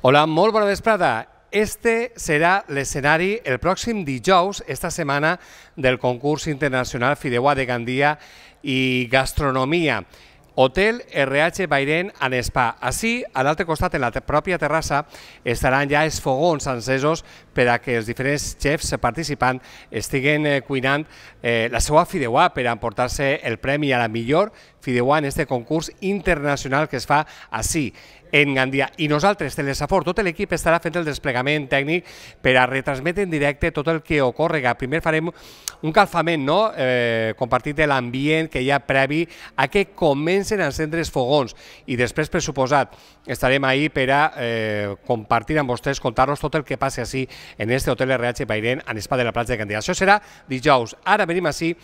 Hola, molt bona vesprada. Este serà l'escenari el pròxim dijous, esta setmana, del concurs internacional Fideuà de Gandia i Gastronomia. Hotel RH Bairén and Spa. Així, a l'altre costat, en la pròpia terrassa, estaran ja els fogons encesos per a que els diferents xefs participants estiguen cuinant la seva fideuà per emportar-se el premi a la millor fideuà en este concurs internacional que es fa així, en Gandia. I nosaltres, Telesafor, tot l'equip estarà fent el desplegament tècnic per a retransmetre en directe tot el que ocorrega. Primer farem un calfament, compartit de l'ambient que hi ha previ a que comencen a encendre els fogons i després, per suposat, estarem ahí per a compartir amb vostès, contar-los tot el que passi així en este Hotel RH Bairén and Spa de la platja de Gandia. Això serà dijous. Ara venim així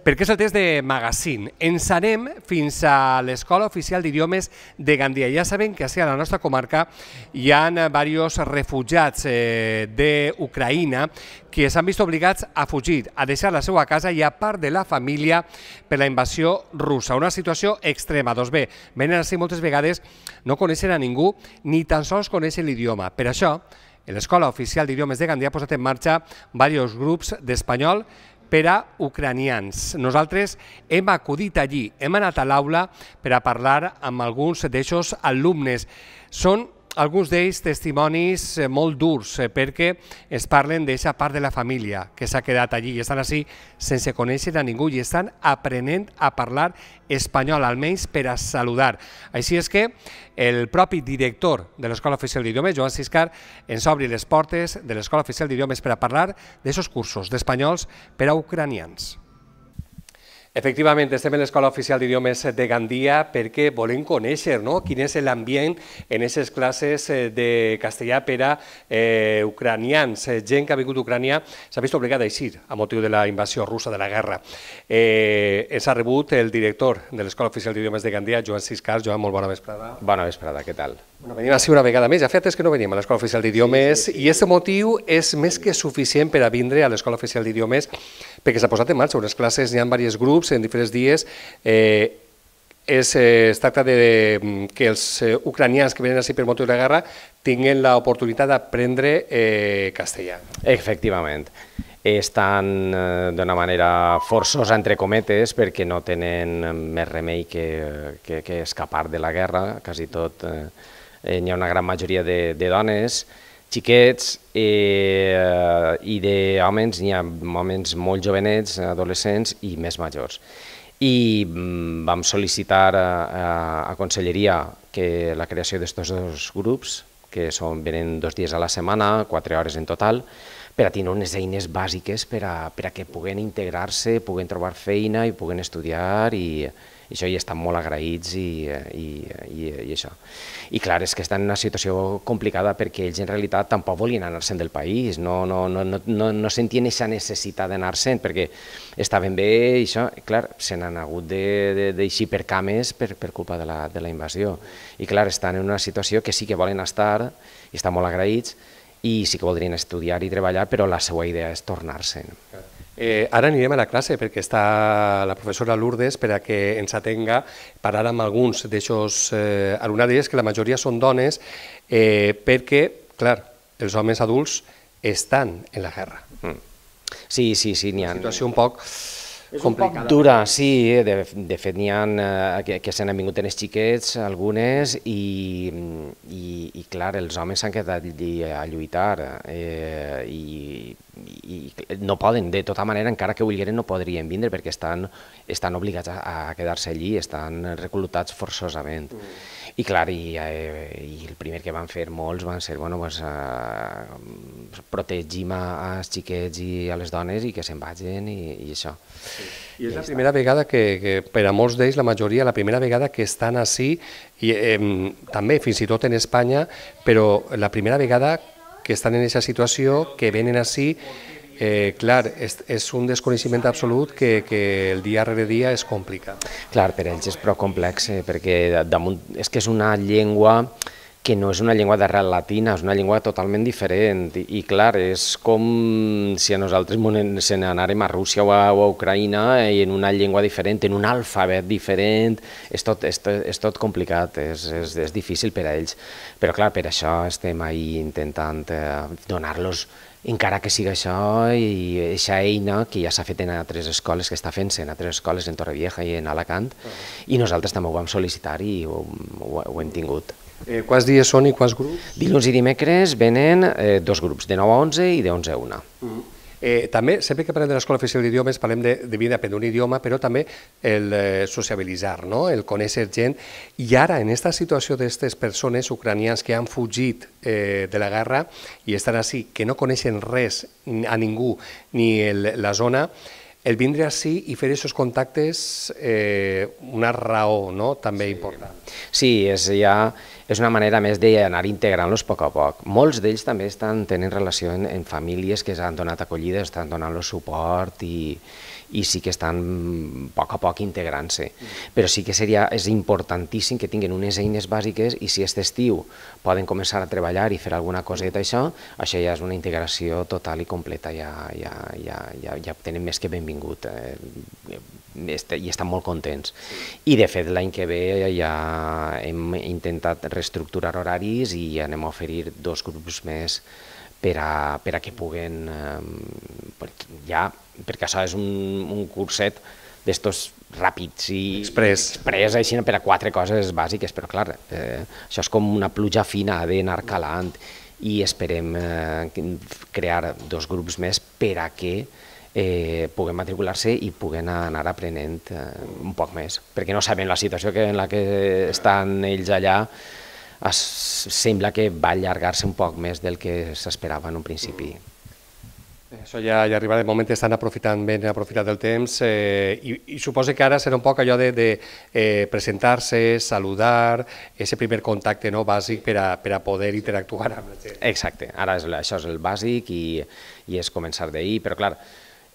perquè és el test de magazine. Ens anem fins a l'Escola Oficial d'Idiomes de Gandia. Ja sabem que a la nostra comarca hi ha diversos refugiats d'Ucraïna que s'han vist obligats a fugir, a deixar la seva casa i a part de la família per la invasió russa. Una situació extrema. Doncs bé, venen així moltes vegades, no coneixen a ningú ni tan sols coneixen l'idioma. Per això, l'Escola Oficial d'Idiomes de Gandia ha posat en marxa diversos grups d'espanyol per a ucranians. Nosaltres hem acudit allí, hem anat a l'aula per a parlar amb alguns d'aquests alumnes. Són alguns d'ells testimonis molt durs perquè es parlen d'aquesta part de la família que s'ha quedat allí i estan així sense conèixer a ningú i estan aprenent a parlar espanyol, almenys per a saludar. Així és que el propi director de l'Escola Oficial d'Idiomes, Joan Siscar, ens obri les portes de l'Escola Oficial d'Idiomes per a parlar d'aquests cursos d'espanyols per a ucranians. Efectivament, estem en l'Escola Oficial d'Idiomes de Gandia perquè volem conèixer quin és l'ambient en aquestes classes de castellà per a ucranians. Gent que ha vingut d'Ucrània s'ha vist obligada a eixir a motiu de la invasió russa, de la guerra. Ens ha rebut el director de l'Escola Oficial d'Idiomes de Gandia, Joan Siscar. Joan, molt bona vesprada. Bona vesprada, què tal? Venim així una vegada més. Ja fa temps que no venim a l'Escola Oficial d'Idiomes i aquest motiu és més que suficient per a vindre a l'Escola Oficial d'Idiomes perquè s'ha posat en marxa unes classes, hi ha diversos grups en diferents dies. Es tracta que els ucranians que venen així per motiu de la guerra tinguin l'oportunitat d'aprendre castellà. Efectivament. Estan d'una manera forçosa, entre cometes, perquè no tenen més remei que escapar de la guerra. Quasi tot, hi ha una gran majoria de dones, xiquets i d'homes, n'hi ha homes molt jovenets, adolescents i més majors. I vam sol·licitar a Conselleria la creació d'estos dos grups, que venen 2 dies a la setmana, 4 hores en total, per a tenir unes eines bàsiques per a que puguen integrar-se, puguen trobar feina i puguen estudiar i això, i estan molt agraïts i això. I clar, és que estan en una situació complicada perquè ells en realitat tampoc volien anar-se'n del país, no sentien aquesta necessitat d'anar-se'n perquè estaven bé i això, clar, se n'han hagut d'eixir per cames per culpa de la invasió. I clar, estan en una situació que sí que volen estar i estan molt agraïts i sí que voldrien estudiar i treballar, però la seva idea és tornar-se'n. Ara anirem a la classe perquè està la professora Lourdes per a que ens atenga, parlar amb alguns d'aquests alumnats d'ells, que la majoria són dones, perquè, clar, els homes adults estan en la guerra. Sí, n'hi ha. Una situació un poc complicada. Dura, sí, de fet n'hi ha que se n'han vingut en els xiquets, algunes, i clar, els homes s'han quedat allí a lluitar i no poden, de tota manera, encara que volgueren no podrien vindre perquè estan obligats a quedar-se allí, estan reclutats forçosament. I clar, i el primer que van fer molts van ser, protegim als xiquets i a les dones i que se'n vagin i això. I és la primera vegada que, per a molts d'ells, la majoria, la primera vegada que estan així, també fins i tot en Espanya, però la primera vegada que estan en aquesta situació, que venen així, clar, és un desconeixement absolut que el dia rere dia és complicat. Clar, per ells és prou complex, perquè és que és una llengua que no és una llengua d'arrel latina, és una llengua totalment diferent. I clar, és com si a nosaltres se n'anàrem a Rússia o a Ucraïna i en una llengua diferent, en un alfabet diferent, és tot complicat, és difícil per a ells. Però clar, per això estem ahí intentant donar-los, encara que sigui això, i aquesta eina que ja s'ha fet en altres escoles, que està fent-se en altres escoles, en Torrevieja i en Alacant, i nosaltres també ho vam sol·licitar i ho hem tingut. Quants dies són i quants grups? Dilluns i dimecres venen 2 grups, de 9 a 11 i de 11 a 1. També, sempre que parlem de l'Escola Oficial d'Idiomes, parlem de vida aprendre un idioma, però també el sociabilitzar, el conèixer gent. I ara, en aquesta situació d'aquestes persones ucranians que han fugit de la guerra i estan així, que no coneixen res a ningú ni la zona, el vindre així i fer aquests contactes una raó també important. Sí, és una manera més d'anar integrant-los a poc a poc. Molts d'ells també tenen relació en famílies que s'han donat acollida, estan donant-los suport i sí que estan a poc integrant-se. Però sí que és importantíssim que tinguin unes eines bàsiques i si aquest estiu poden començar a treballar i fer alguna coseta això ja és una integració total i completa, ja tenen més que benvingut i estan molt contents. I de fet l'any que ve ja hem intentat reestructurar horaris i anem a oferir 2 grups més per a que puguen, perquè això és un curset d'estos ràpids i express, així per a 4 coses bàsiques, però clar, això és com una pluja fina, ha d'anar calant i esperem crear 2 grups més per a que puguem matricular-se i puguen anar aprenent un poc més, perquè no sabem la situació en la que estan ells allà, sembla que va allargar-se un poc més del que s'esperava en un principi. Això ja arribarà, de moment estan aprofitant del temps i suposo que ara serà un poc allò de presentar-se, saludar, aquest primer contacte bàsic per a poder interactuar amb la gent. Exacte, ara això és el bàsic i és començar d'ahir, però clar,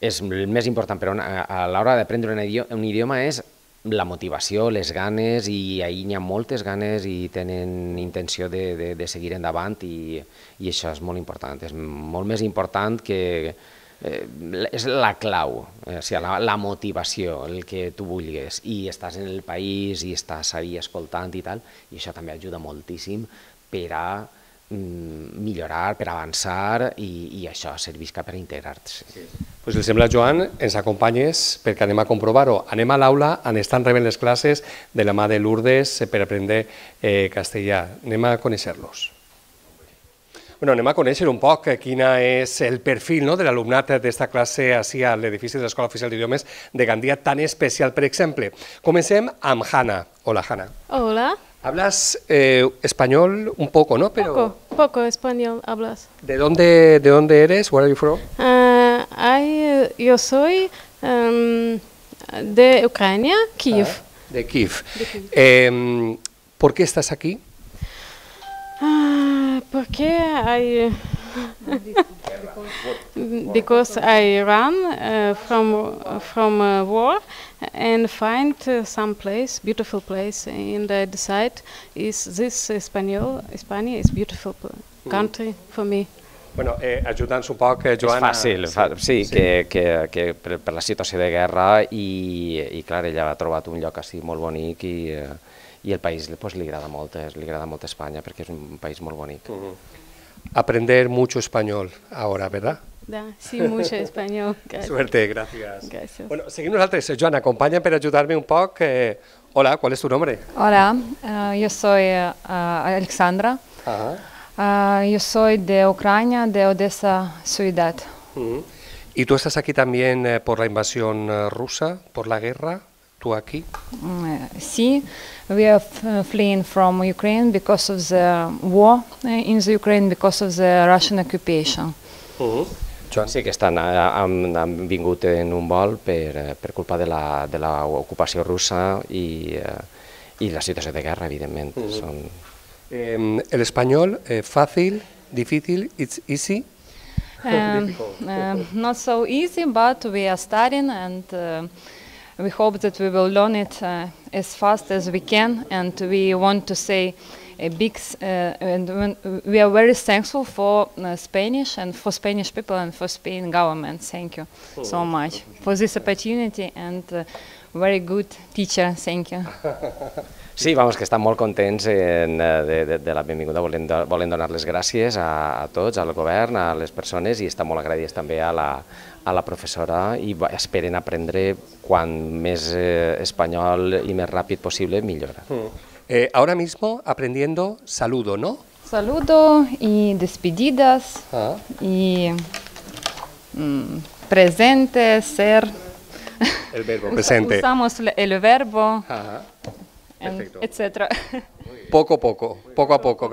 és el més important a l'hora d'aprendre un idioma és la motivació, les ganes, i ahir n'hi ha moltes ganes i tenen intenció de seguir endavant i això és molt important, és molt més important que és la clau, la motivació, el que tu vulguis, i estàs en el país i estàs ahí escoltant i tal, i això també ajuda moltíssim per a millorar, per avançar i això serveix per integrar-se. Si els sembla, Joan, ens acompanyes perquè anem a comprovar-ho. Anem a l'aula on estan rebent les classes de la mà de Lourdes per aprendre castellà. Anem a conèixer-los. Anem a conèixer un poc quin és el perfil de l'alumnat d'esta classe ací a l'edifici de l'Escola Oficial d'Idiomes de Gandia tan especial, per exemple. Comencem amb Hanna. Hola, Hanna. Hola. Hablas español un poco, ¿no? Pero Poco español hablas. ¿De dónde eres? Where are you from? Yo soy de Ucrania, Kiev. De Kiev. ¿Por qué estás aquí? Porque because I ran from war and find some place, beautiful place, and I decide España is beautiful country for me. Ajuda'ns un poc, Joan. És fàcil, sí, que per la situació de guerra i clar, ella ha trobat un lloc així molt bonic i el país li agrada molt Espanya perquè és un país molt bonic. Aprender mucho español ahora, ¿verdad? Sí, mucho español. Suerte, gracias. Gracias. Seguim nosaltres. Joan, acompáñame para ayudarme un poco. Hola, ¿cuál es tu nombre? Hola, yo soy Alexandra. Yo soy de Ucrania, de Odessa, ciudad. ¿Y tú estás aquí también por la invasión rusa, por la guerra? ¿Tú aquí? Sí, we are fleeing from Ukraine because of the war in the Ukraine, because of the Russian occupation. Joan. Sí que han vingut en un vol per culpa de l'ocupació russa i la situació de guerra, evidentment. ¿El español fácil, difícil, it's easy? Not so easy, but we are studying and we hope that we will learn it as fast as we can, and we want to say a big, and we are very thankful for Spanish and for Spanish people and for Spain government. Thank you so much for this opportunity and very good teacher. Thank you. Sí, vamos, que estan molt contents de la benvinguda, volen donar les gràcies a tots, al govern, a les persones, i estan molt agraïts també a la professora i esperen aprendre quan més espanyol i més ràpid possible, millor. Ahora mismo aprendiendo saludo, ¿no? Saludo y despedidas y presente, ser. El verbo presente. Usamos el verbo. Perfecto. Etcétera. Poco a poco. Poco a poco,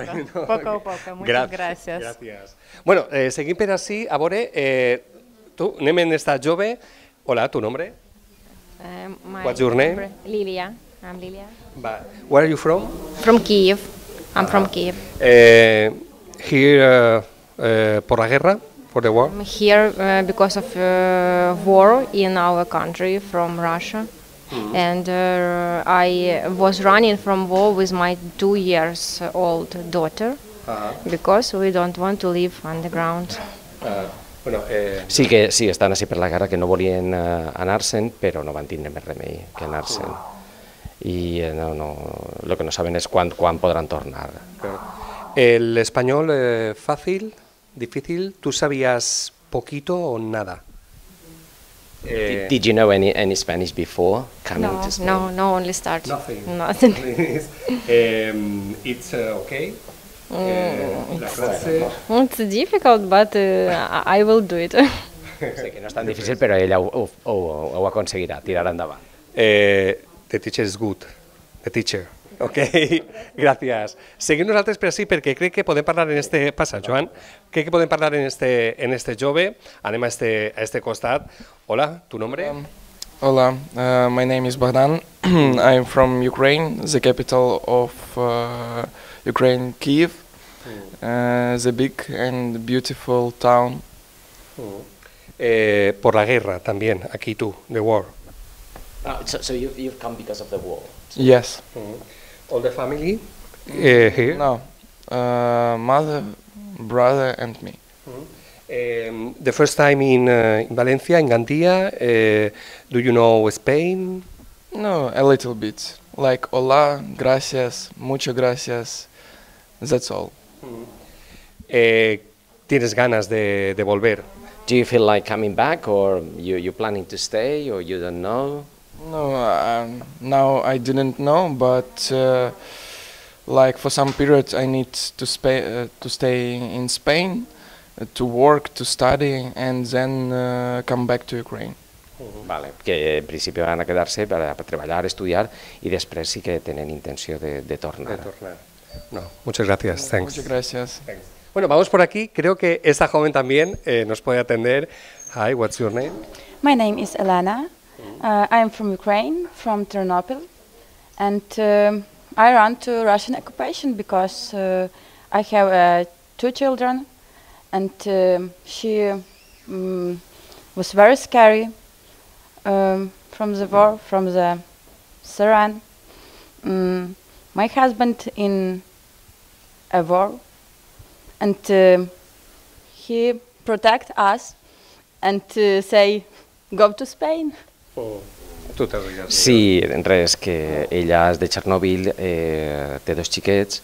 muchas gracias. Gracias. Bueno, seguim per així, a veure, tu, anem en esta jove. Hola, tu nombre? What's your name? Lilia. I'm Lilia. Where are you from? From Kiev. I'm from Kiev. Here por la guerra, for the war? I'm here because of war in our country from Russia. And I was running from war with my 2-year-old daughter because we don't want to live underground. Sí, que sí, estan així per la guerra, que no volien anar-se'n, però no van tindre més remei que anar-se'n. I lo que no saben és quan podran tornar. ¿El español fácil, difícil? ¿Tú sabías poquito o nada? Did you know any Spanish before coming to Spain? No, only start. Nothing. It's okay. It's difficult, but I will do it. Sé que no és tan difícil, però ella ho aconseguirà, tirarà endavant. The teacher is good. The teacher. Ok, gràcies. Seguim nosaltres per així perquè crec que podem parlar en este... Passa, Joan. Crec que podem parlar en este jove. Anem a este costat. Hola, tu nombre? Hola, my name is Bogdan. I'm from Ukraine, the capital of Ukraine, Kiev, the big and beautiful town. Por la guerra también, aquí tú, the war. So you've come because of the war? Yes. All the family here? No, mother, brother and me. The first time in Valencia, in Gandia, do you know Spain? No, a little bit. Like hola, gracias, muchas gracias. That's all. ¿Tienes ganas de volver? Do you feel like coming back, or you're planning to stay, or you don't know? No, now I didn't know, but like for some period I need to stay in Spain, to work, to study, and then come back to Ukraine. Vale, que en principi van a quedar-se per treballar, estudiar, i després sí que tenen intenció de tornar. No, muchas gracias. Thanks. Muchas gracias. Thanks. Bueno, vamos por aquí. Creo que esta joven también nos puede atender. Hi, what's your name? My name is Elena. I am from Ukraine, from Ternopil, and I run to Russian occupation because I have 2 children, and she was very scary from the war, from the Syrian. My husband in a war, and he protect us and say, go to Spain. Sí, res, que ella és de Txernòbil, té 2 xiquets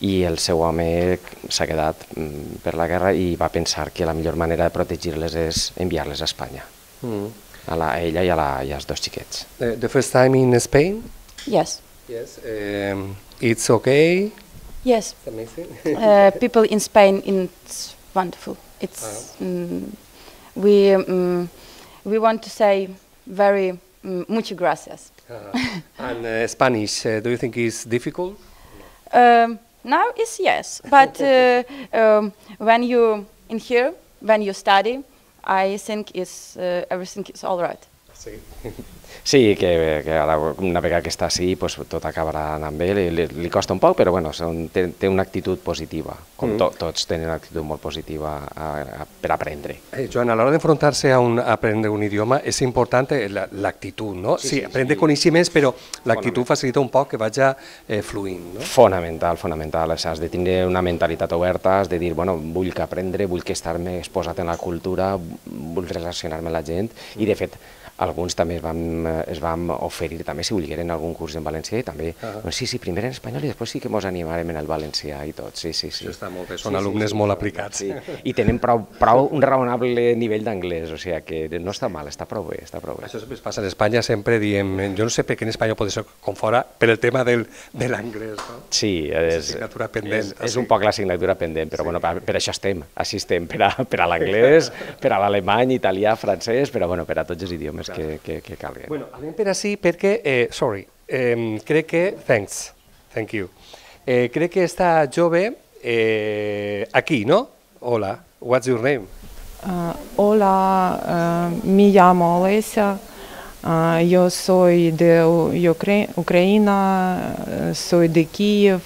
i el seu home s'ha quedat per la guerra i va pensar que la millor manera de protegir-les és enviar-les a Espanya, a ella i als 2 xiquets. The first time in Spain? Yes. Yes. It's okay? Yes. It's amazing. People in Spain, it's wonderful. It's we want to say very muchas gracias. And Spanish, do you think is difficult? Now it's yes, but when you in here, when you study, I think is everything is all right. Sí, que ara, una vegada que està així, pues, tot acabarà anant bé, li costa un poc, però bueno, té una actitud positiva, com tots tenen una actitud molt positiva per aprendre. Joan, a l'hora d'enfrontar-se a aprendre un idioma és important l'actitud, no? Sí, aprendre coneixements, però l'actitud facilita un poc que vagi fluint, no? Fonamental, fonamental. Has de tenir una mentalitat oberta, has de dir, bueno, vull que aprendre, vull que estar-me exposat en la cultura, vull relacionar-me amb la gent, i de fet, alguns també es vam oferir també si volgueren algun curs en valencià i també, sí, primer en espanyol i després sí que ens animarem en el valencià i tot, sí. Això està molt bé, són alumnes molt aplicats. I tenen prou un raonable nivell d'anglès, o sigui que no està mal, està prou bé, està prou bé. Això sempre passa en Espanya, sempre diem, jo no sé per què en Espanya pot ser com fora, per el tema de l'anglès, no? Sí, és un poc l'assignatura pendent, però bueno, per això estem, així estem, per a l'anglès, per a l'alemany, italià, francès, però bueno, per a tots els idiomes que calguen. Bueno, anem per així perquè, crec que, thank you, crec que està jove aquí, ¿no? Hola, what's your name? Hola, me llamo Olesia, yo soy de Ucrania, soy de Kiev,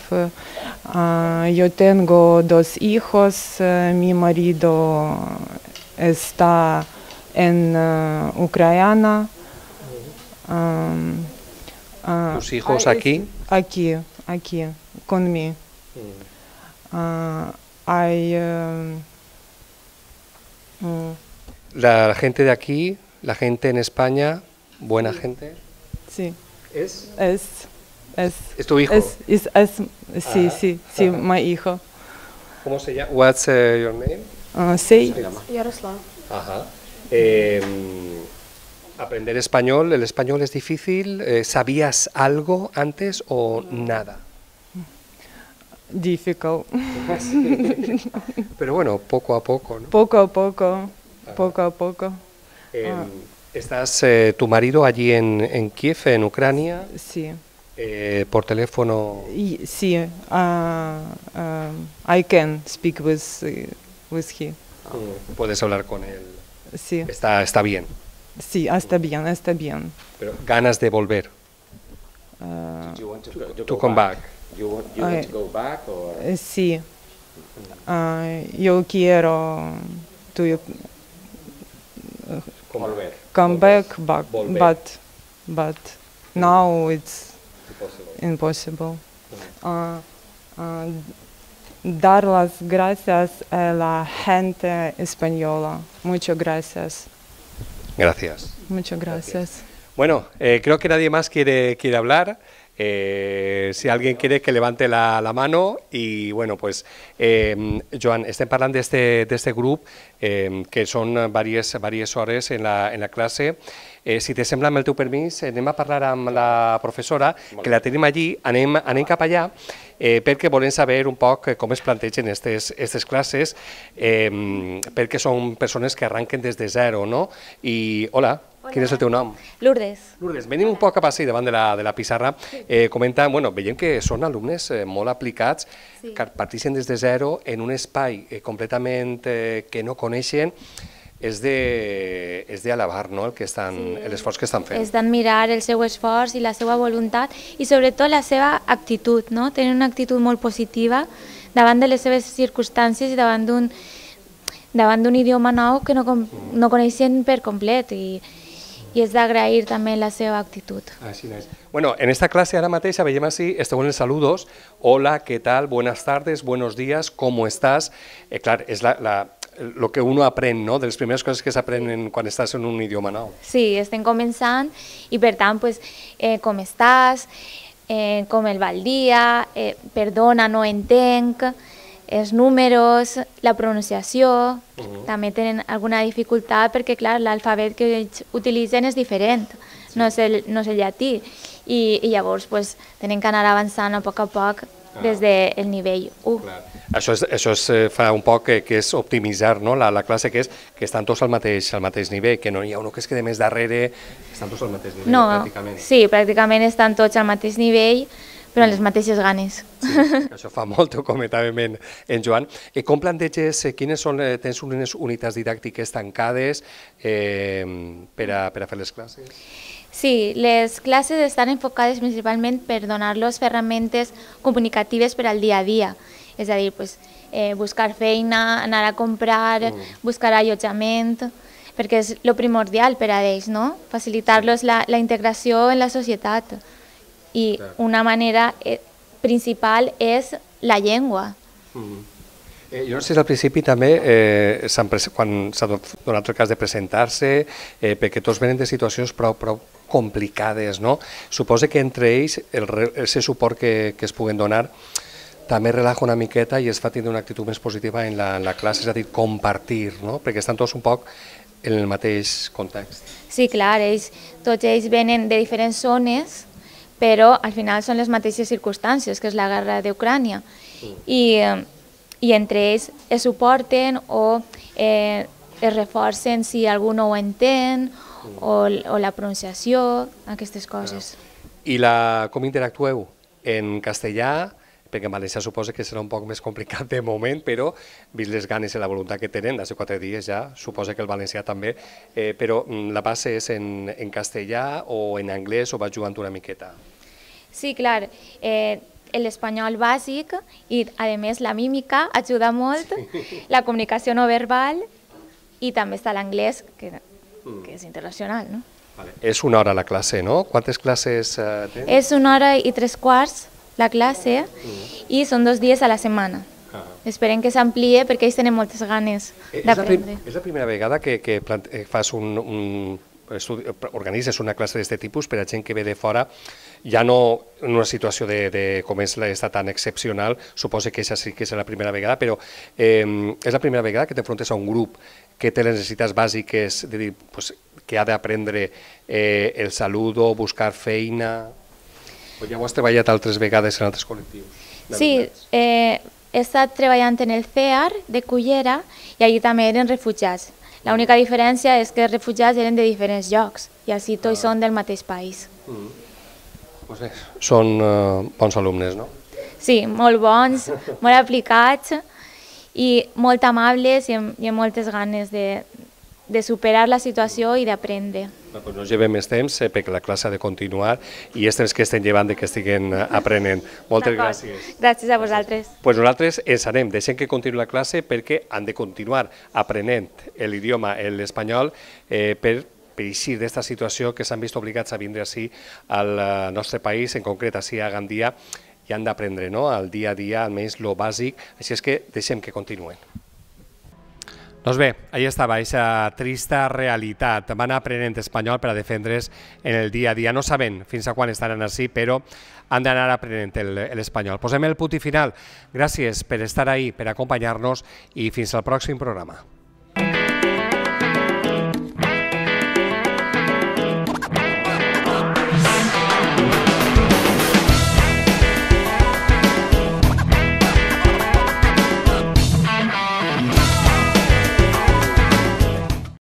yo tengo 2 hijos, mi marido está en Ucrania. ¿Tus hijos aquí? Aquí, conmigo. La gente de aquí, la gente en España, buena gente. Sí. ¿Es? Es tu hijo. Sí, mi hijo. ¿Cómo se llama? What's your name? Sí. Yaroslav. Ajá. Aprender español, ¿el español es difícil? ¿Sabías algo antes o nada? Difficult. Pero bueno, poco a poco, ¿no? Poco a poco. ¿Estás tu marido allí en Kiev, en Ucrania? Sí. ¿Por teléfono? Sí. I can speak with him. Puedes hablar con él. Sí. Está bien. Sí, está bien. Pero ganas de volver. To come back. You want to go back or? Sí. Yo quiero to come back, but now it's impossible. Dar las gracias a la gente española. Muchas gracias. Gracias. Muchas gracias. Bueno, creo que nadie más quiere hablar. Si alguien quiere que levante la mano i bueno, pues, Joan, estem parlant d'este grup que són diverses hores en la classe. Si te sembla, amb el teu permís, anem a parlar amb la professora, que la tenim allí, anem cap allà, perquè volem saber un poc com es plantegen aquestes classes, perquè són persones que arranquen des de zero, no? I, hola, quin és el teu nom? Lourdes. Lourdes, venim un poc cap així davant de la pissarra. Comenta, bueno, veiem que són alumnes molt aplicats, que parteixen des de zero en un espai completament que no coneixen. És d'alabar, no?, l'esforç que estan fent. És d'admirar el seu esforç i la seva voluntat i sobretot la seva actitud, no? Tenen una actitud molt positiva davant de les seves circumstàncies i davant d'un idioma nou que no coneixen per complet i és d'agrair també la seva actitud. Així és. Bueno, en esta clase ara mateix veiem així, esteu en els saludos. Hola, ¿qué tal? Buenas tardes, buenos días, ¿cómo estás? Clar, és lo que uno aprèn, no?, de les primeres coses que s'aprenen quan estàs en un idioma nou. Sí, estem començant i per tant, com estàs, com el va el dia, perdona, no entenc, els números, la pronunciació, també tenen alguna dificultat perquè, clar, l'alfabet que ells utilitzen és diferent, no és el llatí, i llavors tenen que anar avançant a poc des del nivell 1. Això fa un poc que és optimitzar la classe, que estan tots al mateix nivell, que no hi ha un que es queda més darrere, estan tots al mateix nivell, pràcticament. Sí, pràcticament estan tots al mateix nivell, però amb les mateixes ganes. Sí, això fa molt, ho comentàvem en Joan. Com planteges, quines són, tens unes unitats didàctiques tancades per a fer les classes? Sí, les classes estan enfocades principalment per donar-los ferramentes comunicatives per al dia a dia. És a dir, buscar feina, anar a comprar, buscar allotjament, perquè és el primordial per a ells, no? Facilitar-los la integració en la societat. I una manera principal és la llengua. Jo no sé si al principi també, quan s'ha donat el cas de presentar-se, perquè tots venen de situacions prou complicades, no? Suposo que entre ells, el suport que es puguen donar també relaja una miqueta i es fa tindre una actitud més positiva en la classe, és a dir, compartir, no? Perquè estan tots un poc en el mateix context. Sí, clar, tots ells venen de diferents zones, però al final són les mateixes circumstàncies, que és la guerra d'Ucrània. I entre ells es suporten o es reforcen si algú no ho entén, o la pronunciació, aquestes coses. I com interactueu? En castellà, perquè en valencià suposa que serà un poc més complicat de moment, però vist les ganes i la voluntat que tenen, des de 4 dies ja, suposa que el valencià també, però la base és en castellà o en anglès o va jugant una miqueta? Sí, clar, l'espanyol bàsic i, a més, la mímica ajuda molt, la comunicació no verbal i també està l'anglès, que és internacional, no? És una hora la classe, no? Quantes classes tens? És 1 hora i 3/4 la classe i són 2 dies a la setmana. Esperem que s'ampliï perquè ells tenen moltes ganes d'aprendre. És la primera vegada que fas organitzes una classe d'aquest tipus per a gent que ve de fora, ja no en una situació com està tan excepcional, suposo que sí que és la primera vegada, però és la primera vegada que t'enfrontes a un grup que té les necessitats bàsiques, que ha d'aprendre el saludo, buscar feina... O ja ho has treballat altres vegades en altres col·lectius? Sí, he estat treballant en el CEAR de Cullera i allí també eren refugiats. L'única diferència és que els refugiats eren de diferents llocs i així tots són del mateix país. Doncs bé, són bons alumnes, no? Sí, molt bons, molt aplicats i molt amables i amb moltes ganes de superar la situació i d'aprendre. No llevem més temps perquè la classe ha de continuar i és temps que estem llevant que estiguen aprenent. Moltes gràcies. Gràcies a vosaltres. Nosaltres ens anem, deixem que continuï la classe perquè han de continuar aprenent l'idioma, l'espanyol, per eixir d'aquesta situació que s'han vist obligats a vindre així al nostre país, en concret així a Gandia, i han d'aprendre el dia a dia, almenys el bàsic, així és que deixem que continuïn. Doncs bé, allà estava, aquesta trista realitat. Van aprenent espanyol per a defendre's en el dia a dia. No saben fins a quan estaran així, però han d'anar aprenent l'espanyol. Posem el punt i final. Gràcies per estar ahí, per acompanyar-nos i fins al pròxim programa.